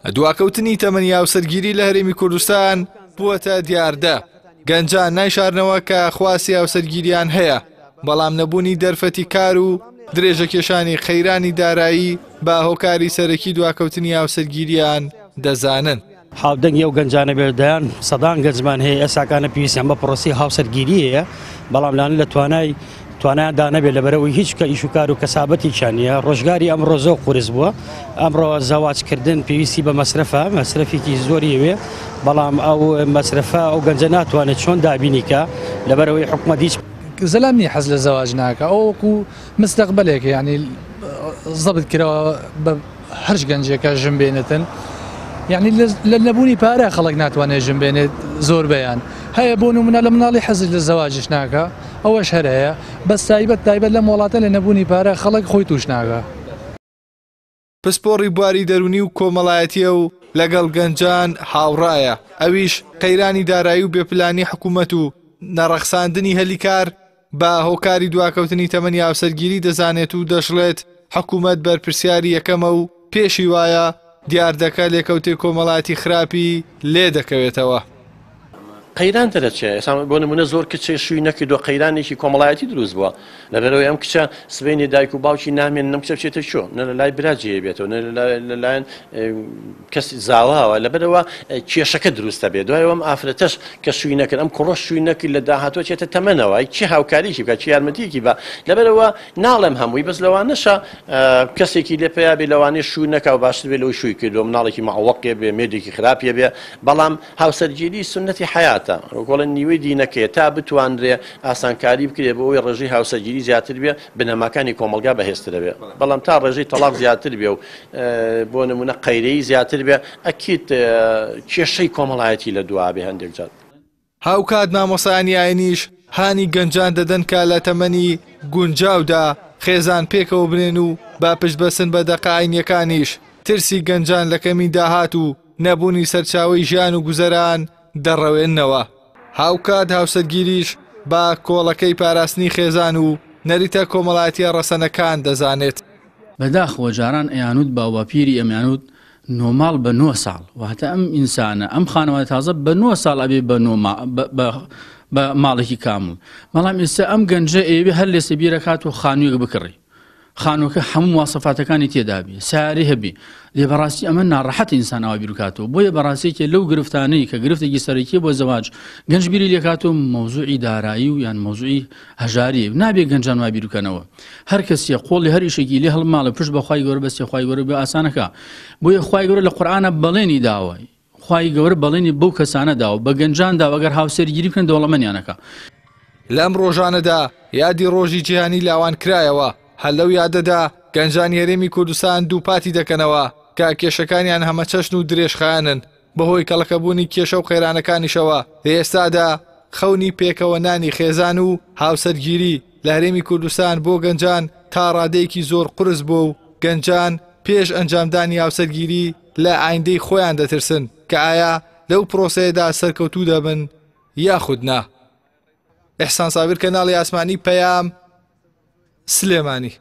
دواکەوتنی تەمەنی هاوسەرگیری لە هەرێمی کوردستان بووەتە دیاردە، گەنجان نایشارنەوە کە خواستی هاوسەرگیریان هەیە، بەڵام نەبوونی دەرفەتی کار و درێژەکێشانی قەیرانی دارایی بە هۆکاری سەرەکی دواکەوتنی هاوسەرگیریان دەزانن. هاودەنگی ئەو گەنجانە بێت، دەیان سەدان گەنجمان هەیە ئێستاکانە پێویستیان بە پرۆسەی هاوسەرگیری هەیە، بەڵام لانە لە توانای توانایان دانەبێت لەبەرەوەی هیچ کە ئیش و کار و کەسابەتێکیان نییە. ڕۆژگاری ئەمڕۆ زۆر قورس بووە، ئەمڕۆ زەواجکردن پێویستی بە مەسرەفە، مەسرەفێکی زۆری ئەوێ، بەڵام ئەو مەسرەفە ئەو گەنجە ناتوانێت چۆن دابینی کە لەبەرەوەی حکومەت هیچ زەلام نییە حەز لە زەواج ناکە، ئەو وەکو مستەقبلێکە، یعنی زەبت کراوە بە هەرچ گەنجێکە ژن بێنێتن، یعنی لە نەبوونی پارە خەڵک ناتوانێت ژن بێنێت. زۆربەیان هەیە بۆ نمونە لە مناڵی حەز لە زەواجش ناکە، ئەوەش هەر هەیە، بەس تایبەت تایبەت لەم وڵاتە لە نەبوونی پارە خەڵک خۆی توش ناکە. پسپۆڕی بواری دەروونی و کۆمەڵایەتییە و لەگەڵ گەنجان هاوڕایە، ئەویش قەیرانی دارایی و بێپلانی حکوومەت و نەڕەخساندنی هەلی کار بە هۆکاری دواکەوتنی تەمەنی هاوسەرگیری دەزانێت و دەشڵێت، حکوومەت بەرپرسیاری یەکەمە و پێشی وایە دیاردەکە لێکەوتەی کۆمەڵایەتی خراپی لێدەکەوێتەوە. قەیران دەرەچێ، ئێستا بۆ نمونە زۆر کچ شووی نەکردووە، قەیرانێکی کۆمەڵایەتی دروست بووە، لەبەرئەوەی ئەم کچە سبەینێ دایک و باوکی نامێنن، ئەم کچە بچێتە کوێ؟ نە لە لای برا جێی بێتەوە، نە لەلایەن کەس زاواوە، لەبەرئەوە کێشەکە دروست دەبێت. دوای ئەوە ئەم ئافرەتەش کە شووی نەکرد، ئەم کوڕەش شووی نەکرد، لە داهاتووە چێتە تەمەنەوە، ئەی کێ هاوکاریی بکات، کێ یارمەتییەکی با؟ لەبەرئەوە ناڵێم هەمووی، بەس لەوانەشە کەسێکی لێ پەیا بێ، لەوانەیە شوو نەکا و باشتر بێ لەوەی شووی کردووە، مناڵێکی مەعوەقێ بێ، مێردێکی خراپێ بێ، بەڵام هاوسەرگیری سوننەتی حەیاتە، وەک بڵێن نیوەی دینەکەیە، تا بتوانرێ ئاسانکاری بکرێ بۆ ئەوەی ڕێژەی هاوسەرگیری زیاتر بێ، بنەماکانی کۆمەڵگا بەهێزتر ئەبێ، بەڵام تا ڕێژەی تەڵاق زیاتر بێ و بۆ نموونە قەیرەیی زیاتر بێ، ئەکید کێشەی کۆمەڵایەتی لە دوا ئەبێ هەندێک جار. هاوکات مامۆستایانی ئاینیش هانی گەنجان دەدەن کە لە تەمەنی گونجاودا خێزان پێکەوە بنێن و بە پشتبەستن بە دەقە ئاینییەکانیش ترسی گەنجان لە کەمی داهات و نەبوونی سەرچاوەی ژیان و گوزەران دەڕەوێننەوە. هاوکات هاوسەرگیریش بە کۆڵەکەی پاراستنی خێزان و نەریتە کۆمەڵایەتییە ڕەسەنەکان دەزانێت. بەداخەوە جاران ئەیانوت باوباپیری ئەمیانوت نۆ ماڵ بە نۆ ساڵ واتە ئەم ئینسانە ئەم خانەوادە تازە بە نۆ ساڵ ئەبێ بە نۆ بە ماڵێکی کامڵ بەڵام ئێستا ئەم گەنجە ئەیەوێ هەر لێسە بیرەکات و خانوویەک بکڕی خانووەکە هەموو مواسەفاتەکانی تێدابی ساری هەبی لێ بەڕاستی ئەمە ناڕەحەت ئینسان ئەوە بیرکاتەوە بۆیە بەڕاستێکێ لەو گرفتانەی کە گرفتێکی سەرەکی بۆ زەواج گەنج بیری لێکاتەوە مەوزوعی دارایی و یان مەوزوعی هەژاری نابێ گەنجان وا بیرکەنەوە هەر کەسیە قۆڵی هەر ئیشێکی لێ هەڵماڵە پشت بە خوای گەورە بەستێ خوای گەورە بۆ ئاسانەکا بۆیە خوای گەورە لە قورئانە بەڵێنی داوە خوای گەورە بەڵێنی بەو کەسانە داوە بە گەنجان داوە گەر هاوسەرگیری بکەن دەوڵەمەنیانەکە. لەم ڕۆژانەدا یادی ڕۆژی جیهانی لاوان کرایەوە، هەر لەو یادەدا گەنجانی هەرێمی کوردستان دووپاتی دەکەنەوە کە کێشەکانیان هەمەچەشن و درێژخایەنن، بەهۆی کەڵەکەبوونی کێشە و قەیرانەکانیشەوە لە ئێستادا خەونی پێکەوەنانی خێزان و هاوسەرگیری لە هەرێمی کوردستان بۆ گەنجان تا ڕادەیەکی زۆر قورس بووە و گەنجان پێش ئەنجامدانی هاوسەرگیری لە ئایندەی خۆیان دەترسن کە ئایا لەو پرۆسەیەدا سەرکەوتوو دەبن یاخود نا. ئیحسان سابیر کەناڵی ئاسمانی پەیام، سلێمانی.